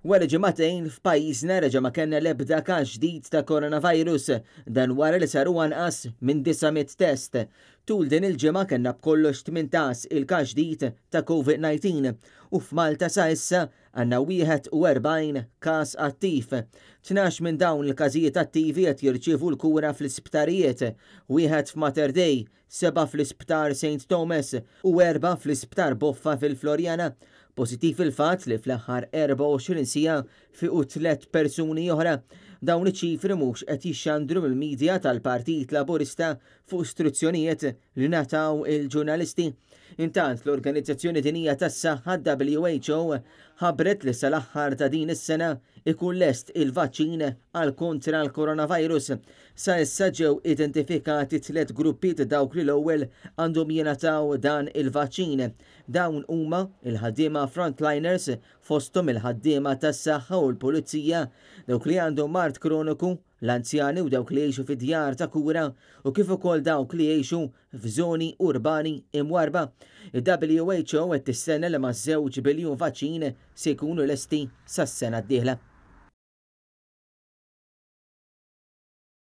Wara ġimagħtejn f'pajjiżna reġa' ma kellna l-ebda każ ġdid ta' coronavirus, dan wara li saru anqas minn 900 test. Tul din il-ġimgħa kellna b'kollox 18 il-każ ġdid ta' COVID-19 u f'Malta sa issa għandna 41 każ attiv. 12 minn dawn il-każijiet attivi qed jirċievu l-kura fl-isptarijiet, wieħed f'Mater Dei, sebgħa fl-Isptar Saint Thomas u erbgħa fl-Isptar Boffa fil-Floriana. Pożittiv il-fatt li fl-aħħar 24 siegħa fiequ tlett persuni oħra. Dawn iċ-ċifri mhux qed jixxandru mill-media tal-Partit Laburista fuq istruzzjonijiet li ngħataw il-ġurnalisti. Intant, l-Organizzazzjoni Dinjija tas-Saħħa, WHO, ħabbret li sal-aħħar ta' din is-sena ikun lest il-vaċċin għal kontra l-coronavirus. Sa issa ġew identifikati tlett gruppi ta' dawk li l-ewwel għandhom jingħataw dan il-vaċċin. Dawn huma, il-ħaddiema frontliners, fosthom il-ħaddiema tas-saħħa u l-pulizija, dawk li għandhom mard kroniku, l-anzjani u dawk li jgħixu fi djar ta' kura u kif ukoll dawk li jgħixu f'żoni urbani imwarrba. Il-WHO qed tistenna li maż-żewġ biljun vaċċin se jkunu lesti sas-sena d-dieħla.